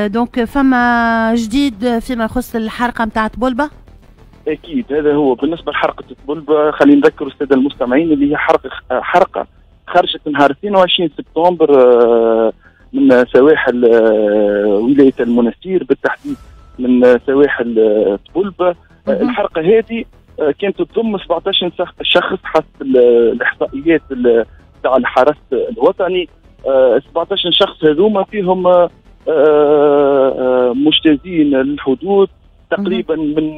donc فما جديد فيما يخص الحرقة نتاع طبلبة؟ اكيد، هذا هو. بالنسبة لحرقه طبلبة، خلينا نذكر السادة المستمعين اللي هي حرقه خرجت نهار 22 سبتمبر من سواحل ولاية المنستير، بالتحديد من سواحل طبلبة. الحرقة هذه كانت تضم 17 شخص حسب الاحصائيات تاع الحرس الوطني. 17 شخص هذوما فيهم مجتازين للحدود تقريبا من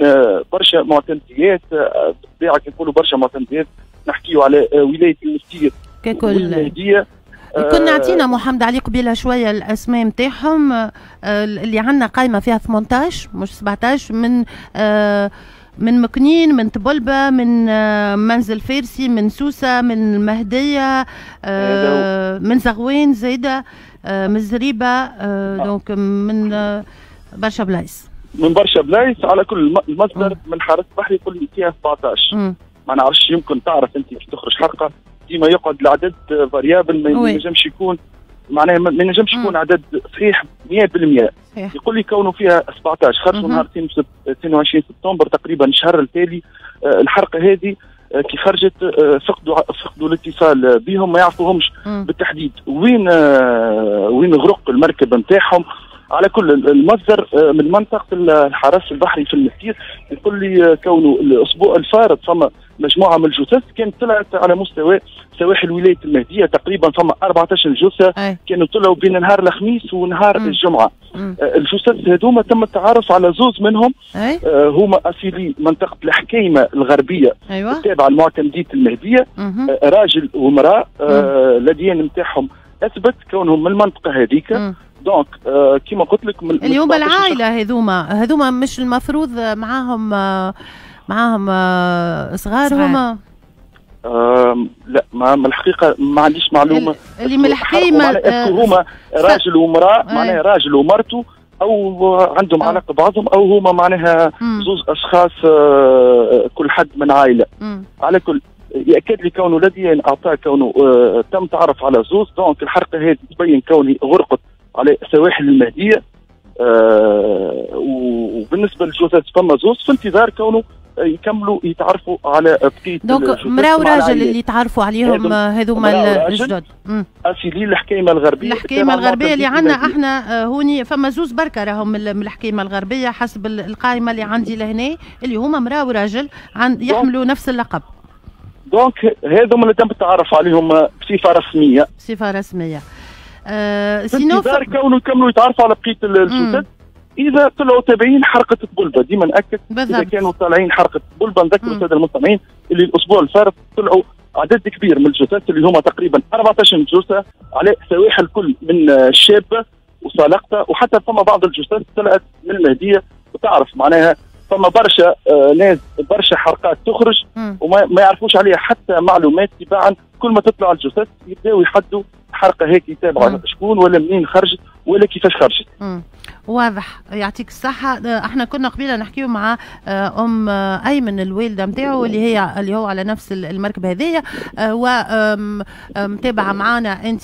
برشا معتمديات. بالطبيعة كي نقولوا برشا معتمديات نحكيو على ولاية المستير ككل والمهديه. كنا عطينا محمد علي قبيلة شوية الاسماء نتاعهم اللي عندنا قائمة فيها 18 مش 17، من مكنين، من طبلبة، من منزل فارسي، من سوسة، من المهدية، من زغوين زايدة، من الزريبة، donc من برشا بلايص. من برشا بلايص. على كل، المصدر من الحرس البحري يقول لي فيها 17. ما نعرفش، يمكن تعرف انت كي تخرج حرقه ديما يقعد العدد variable، ما ينجمش يكون، معناها ما ينجمش يكون عدد صحيح 100%. يقول لي كونه فيها 17 خرجوا نهار 22 سبتمبر، تقريبا الشهر التالي. الحرقة هذه كي خرجت فقدوا الاتصال بهم، ما يعرفوهمش بالتحديد وين غرق المركب نتاعهم. على كل، المصدر من منطقة الحرس البحري في المستير يقول لي كونه الاسبوع الفارط فما مجموعة من الجثث كانت طلعت على مستوى سواحل ولاية المهديه، تقريبا فما 14 جثة كانوا طلعوا بين نهار الخميس ونهار الجمعة. الجثث هذوما تم التعرف على زوز منهم. هما اصيلي منطقة الحكيمة الغربية التابعة لمعتمديه المهديه، راجل وامراه، l'ADN نتاعهم اثبت كونهم من المنطقة هذيك. donc كيما قلت لك من اللي هما العائلة هذوما مش المفروض معاهم صغار هما؟ لا، ما الحقيقة ما عنديش معلومه. اللي من الحكاية هما راجل ومراة، معناها راجل ومرته، او عندهم علاقة بعضهم، او هما معناها زوز اشخاص كل حد من عائله. على كل، ياكد لي كونه l'ADN اعطاه كونه تم تعرف على زوز. donc الحرقة هذه تبين كوني غرقت على سواحل المهديه. وبالنسبة للجثث فما زوز، في انتظار كونه يكملوا يتعرفوا على بقية. donc مراة وراجل اللي تعرفوا عليهم هذوما الجدد. اصيلين الحكيمة الغربيه. الحكيمة الغربية اللي عندنا احنا هوني فما زوز بركة راهم من الحكيمة الغربية حسب القائمة اللي عندي لهنا، اللي هما مراة وراجل يحملوا نفس اللقب. donc هذوما اللي تم التعرف عليهم بصفة رسميه. بصفة رسميه. sinon في كونه يكملوا يتعرفوا على بقية الجثث اذا طلعوا تابعين حرقه طبلبه. ديما ناكد، اذا كانوا طالعين حرقه طبلبه. نذكر السادة المستمعين اللي الاسبوع الفارط طلعوا عدد كبير من الجثث اللي هما تقريبا 14 جثة على سواحل كل من الشابة وسالقطه، وحتى فما بعض الجثث طلعت من المهديه. وتعرف معناها فما برشا ناس، برشا حرقات تخرج وما ما يعرفوش عليها حتى معلومات. تباعا كل ما تطلع الجثث يبداو يحدوا حرقه هيك يتابعوا شكون ولا منين خرجت ولا كيفاش خرجت. واضح، يعطيك الصحة. احنا كنا قبيلة نحكيو مع ام ايمن، الوالدة نتاعو اللي هو على نفس المركب هذيا ومتابعة معنا انت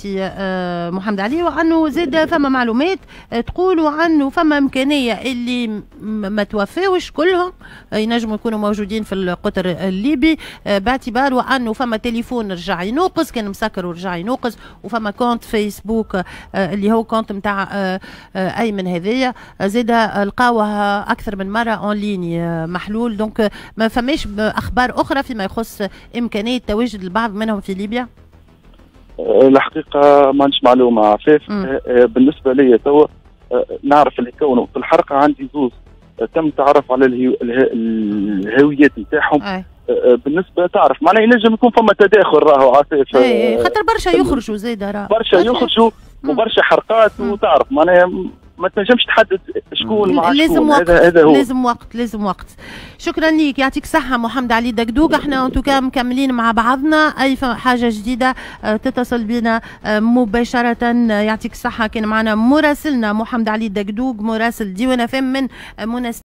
محمد علي، وانه زاد فما معلومات تقولوا عنه فما امكانية اللي ما توفاوش كلهم، ينجموا يكونوا موجودين في القطر الليبي، باعتبار وانه فما تليفون رجع ينوقز، كان مسكر ورجع ينوقز، وفما compte فيسبوك اللي هو compte نتاع ايمن هذايا زاد لقاوها اكثر من مرة en ligne محلول. donc ما فماش اخبار اخرى فيما يخص امكانية تواجد البعض منهم في ليبيا؟ الحقيقة ما عنديش معلومة عفاف. بالنسبة لي توا نعرف اللي كونوا في الحرقة عندي زوز تم التعرف على الهويات نتاعهم. بالنسبة تعرف معناها ينجم يكون فما تداخل راهو عفاف. اي، خاطر برشا يخرجوا زيد راه. برشا يخرجوا وبرشا حرقات، وتعرف معناها ما تنجمش تحدد شكون مع لازم شكون. وقت. هذا هو. لازم وقت، لازم وقت. شكرا ليك، يعطيك الصحة محمد علي دقدوق. احنا en tout cas مكملين مع بعضنا، اي حاجة جديدة تتصل بنا مباشرة. يعطيك الصحة، كان معنا مراسلنا محمد علي دقدوق، مراسل ديوان اف ام من منستير.